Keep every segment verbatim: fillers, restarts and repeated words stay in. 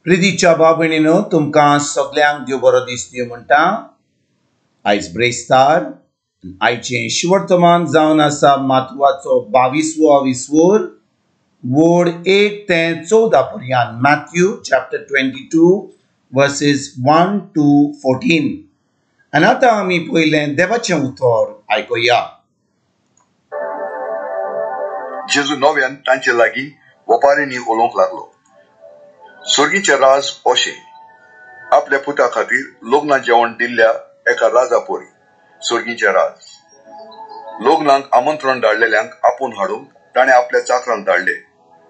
प्रितीच्या भाव भयणीनो, तुमकां सगल्यांक देव बरो दीस दिवं म्हणटा. आयज ब्रेस्तार, आयचें शिवर्तमान जावन आसा मातवाचो बावीसवो विसवोर वोड एक ते चवदा पर्यंत. Matthew chapter twenty two verses one to fourteen. आनी आतां आमी पयलें देवाचें उतर आयकुया. जेजू नव्यान तांचे लागीं वपारींनी उलोवंक लागलो. स्वर्गीचें राज अशें आपल्या पुता खातीर लग्ना जेवण दिल्ल्या एका राजा परी स्वर्गीचें राज. लग्नाक आमंत्रण धाडलेल्यांक आपोवन हाडूंक ताणें आपल्या चाकरांक धाडले,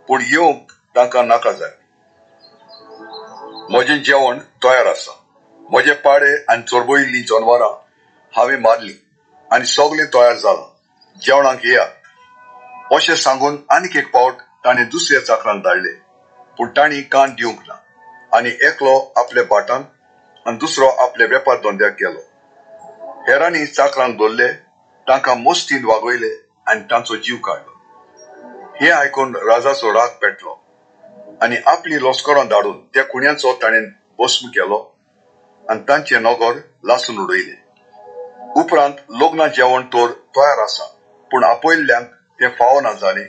पूण येवंक तांकां नाका जालें. म्हजें जेवण तयार आसा, म्हजे पाडे आनी चोरबयिल्लीं जनवरां हांवें मारलीं आनी सगळें तयार जालां, जेवणाक येयात अशें सांगून आनीक एक पावट ताणें दुसऱ्या चाकरांक धाडले, पूण तांणी कान दिवंक ना आनी एकलो आपल्या भाटांत आनी दुसरो आपल्या वेपार धंद्याक गेलो. हेरांनी चाकरांक धरले, तांकां मस्तीन वागयले आनी तांचो जीव काडलो. हें आयकून राजाचो राग पेटलो आनी आपली लश्करां धाडून त्या खुण्यांचो ताणें भस्म केलो आनी तांचें नगर लासून उडयलें. उपरांत लग्ना जेवण तर तयार आसा, पूण आपयल्ल्यांक तें फावना जालें.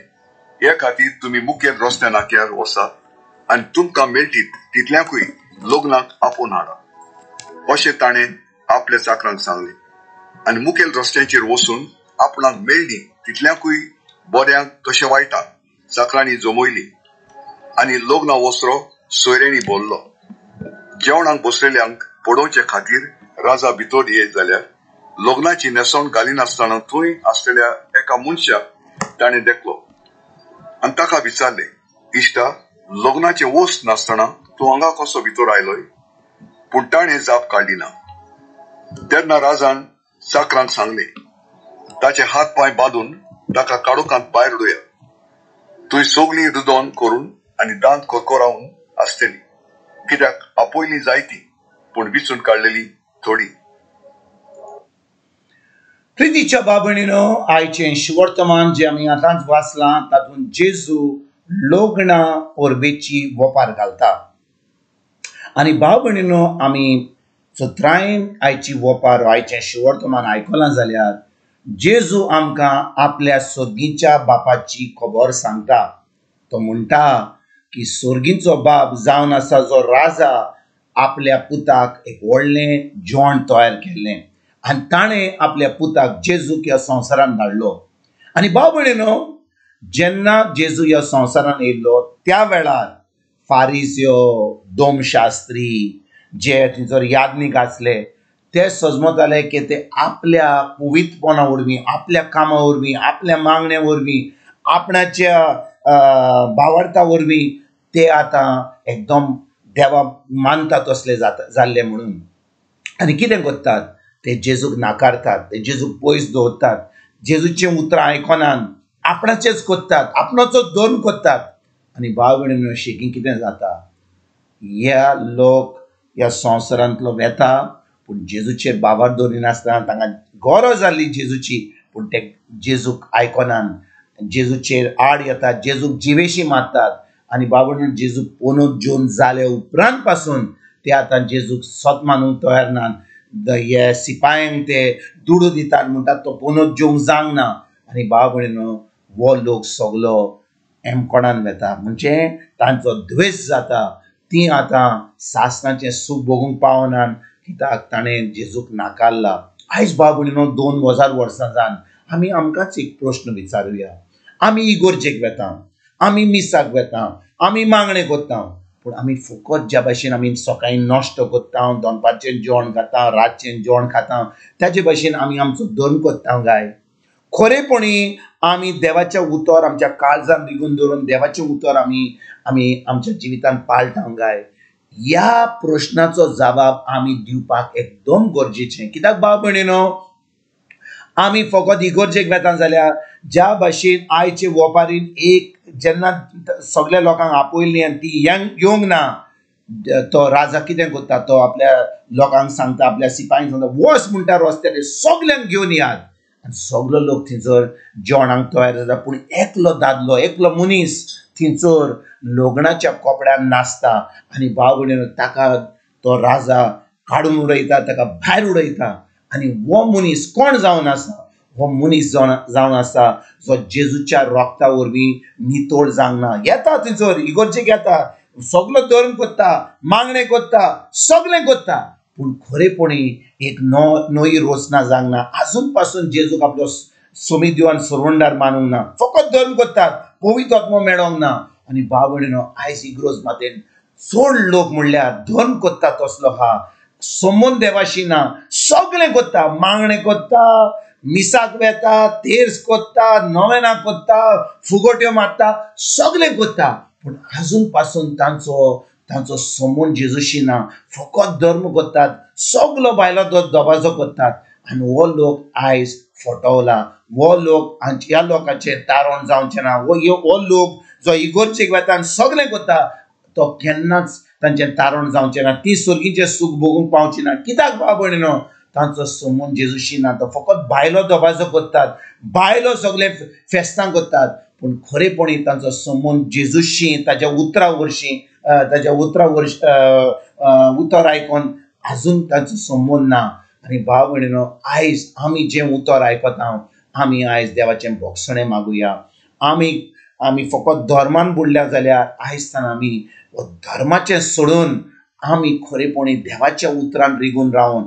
हे खातीर तुमी मुखेल रस्त्या नाक्यार वचात आनी तुमकां मेळटीत तितल्यांकूय लग्नाक आपोवन हाडा अशें ताणें आपल्या चाकरांक सांगलें. आनी मुखेल रस्त्यांचेर वचून आपणाक मेळ्ळीं तितल्यांकूय बऱ्यांक तशें वायटांक चाकरांनी जमयलीं आनी लग्ना वसरो सोयऱ्यांनी भरलो. जेवणाक बसलेल्यांक पळोवचे खातीर राजा भितर येत जाल्यार लग्नाची न्हेसवण घालिनासतना थंय आसलेल्या एका मनशाक ताणें देखलो आनी ताका विचारलें, इश्टा, लग्नाचें वस्त नासतना तूं हांगा कसो भितर आयलोय? पूण ताणें जाप काडली ना. तेन्ना राजान चाकरांक सांगलें, ताचे हात पांय बांदून ताका काळोखांत भायर उडयात, थंय सगळीं रुदन करून आनी दांत करकरावन आसतली, कित्याक आपयली जायती पूण विचून काडलेली थोडी. प्रितीच्या भाव भयणीनो, आयचें शिवर्तमान जें आमी आतांच वाचलां तातूंत जेजू लग्ना परबेची वपार घालता. आनी भाव भयणीनो, आमी चत्रायेन आयची वपार आयचें शिवर्तमान आयकलां जाल्यार जेजू आमकां आपल्या सोर्गीच्या बापाची खबर सांगता. तो म्हणटा की सोर्गीचो बाप जावन आसा जो राजा आपल्या पुताक एक व्हडलें जेवण तयार केल्लें आनी ताणें आपल्या पुताक जेजूक ह्या संवसारान धाडलो. आनी भाव भयणीनो, जेन्ना जेजू ह्या संवसारान येयल्लो त्या वेळार फारिज्यो, दोमशास्त्री जे थंयसर याज्ञीक आसले ते सजमताले की ते आपल्या पवित्रपणा वरवीं, आपल्या कामा वरवीं, आपल्या मागण्या वरवीं, आपणाच्या भावार्था वरवीं ते आतां एकदम देवा मानता तसले जाता जाल्ले म्हणून. आनी कितें करतात, ते जेजूक नाकारतात, ते जेजूक पयस दवरतात, जेजूचीं उतरां आयकनात, आपणाचेच करतात, आपणाचो धर्म करतात. आनी भाव भयणीनो, शेकी कितें जाता, ह्या लोक ह्या संवसारांतलो वेता पूण जेजूचेर बाबार दवरिनासतना तांकां गरज जाल्ली जेजूची, पूण ते जेजूक आयकनात, जेजूचेर आड येतात, जेजूक जिवेशी मारतात. आनी भाव भयणीनो, जेजू पोनूत जेवन जाले उपरांत पासून ते आतां जेजूक सत मानूंक तयार नात. हे सिपायांक ते दुडू दितात, म्हणटात तो पोनूत जेवंक जावंक ना. आनी भाव भयणीनो, हो लोक सगलो एमकोणान वेता, म्हणजे तांचो द्वेश जाता. ती आतां सासणाचें सूख भोगूंक पावनात कित्याक ताणें जेजूक नाकारला. आयज भाव भयणीनो, दोन हजार वर्सां जावन आमी आमकांच एक प्रश्न विचारुया. आमी इगोर्जेक वेता, आमी मिसाक वेता, आमी मागणें करता, पूण आमी फकत ज्या भाशेन आमी सकाळीं नश्ट करता, दनपारचें जेवण खाता, रातचें जेवण खाता, ताजे भाशेन आमी आमचो धर्म करता काय? खरेपणी आमी देवाचें उतर आमच्या काळजान रिगून दवरून देवाचें उतर आमी आमी आमच्या जिवितांत पाळटा काय? ह्या प्रश्नाचो जबाब आमी दिवपाक एकदम गरजेचें. कित्याक भाव भयणीनो, आमी फकत इगोर्जेक वेता जाल्यार ज्या भाशेन आयचे वपारीन एक जेन्ना सगल्या लोकांक आपयलीं आनी ती येवंक ना, तो राजा कितें करता, तो आपल्या लोकांक सांगता, आपल्या सिपायांक सांगता, वच म्हणटा रस्त्यार सगल्यांक घेवन यात. आनी सगलो लोक थंयसर जेवणाक तयार जाता, पूण एकलो दादलो, एकलो मनीस थंयसर लग्नाच्या कपड्यान नाचता आनी भाव भयणीनो ताका तो राजा काडून उडयता, ताका भायर उडयता. आनी हो मनीस कोण जावन आसा? हो मनीस जावन जावन आसा जो जेजूच्या रोगता वरवीं नितळ जावंक ना. येता थंयसर इगर्जेक येता, सगलो धर्म करता, मागणें करता, सगळें करता, पूण खरेपणी एक नो नवी रचना जावंक ना. आजून पासून जेजूक आपलो सोमी दिवन सरवंडार मानूंक ना, फकत धर्म करतात, पवित्र आत्मो मेळोंक ना. आनी भाव भयणीनो आयज इग्रोज मातेन चड लोक म्हणल्यार धर्म करता तसलो आहा, संबंद देवाशी ना, सगळें करता, मागणें करता, मिसाक वेता, तेर्स करता, नवेनां करता, फुगोट्यो मारता, सगळें करता, पूण आजून पासून तांचो तांचो संबंद जेजूशी ना. फकत धर्म करतात, सगलो बायलो दबाजो करतात. आनी हो लोक आयज फटवला, हो लोक ह्या लोकांचें तारण जावचें ना. हो लोक जो इगर्जेक वेता आनी सगळें करता तो केन्नाच तांचें तारण जावचें ना, ती सर्गीचें सूख भोगूंक पावची ना. कित्याक भाव भयणीनो? तांचो संबंद जेजूशी ना. तो फकत बायलो दबाजो करतात, बायलो सगळे फेस्तां करतात, पूण खरेपणी तांचो संबंद जेजूशी, ताज्या उतरा वरशीं, ताज्या उतरा वर्ष उतर आयकोन आजून तांचो संबंद ना. आनी भाव भयणीनो आयज आमी जें उतर आयकता आमी आयज देवाचें भोगसणें मागुया. आमी आमी फकत धर्मान बुडल्या जाल्यार आयज तान आमी धर्माचें सोडून आमी खरेपणी देवाच्या उतरान रिगून रावन,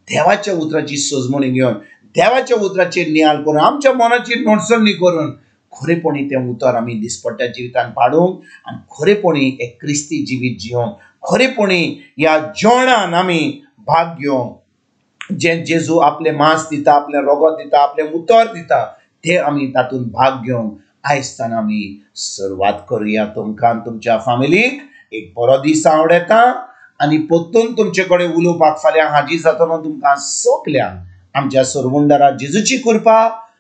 देवाच्या उतराची सजमणी घेवन, देवाच्या उतराचेर नियाळ करून, आमच्या मनाची नोटसणी करून खरेपणी तें उतर आमी दिसपट्ट्या जिवितान पाडूंक आनी खरेपणी एक क्रिस्ती जिवीत जिवंक, खरेपणी ह्या जेवणान आमी भाग घेवंक, जें जेजू आपलें मांस दिता, आपलें रोगत दिता, आपलें उतर दिता, तें आमी तातूंत भाग घेवंक आयज तान आमी सुरवात करुया. तुमकां आनी तुमच्या फामिलीक एक बरो दीस आवडटा आनी परतून तुमचे कडेन उलोवपाक फाल्यां हाजीर जातलो. तुमकां सगल्यांक आमच्या सरवंडारा जेजूची कृपा,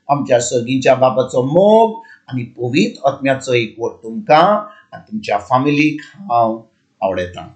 आमच्या सर्गीच्या बाबाचो मोग आनी पवित्र आत्म्याचो एकवट तुमकां आनी तुमच्या फामिलीक हांव आवडटा.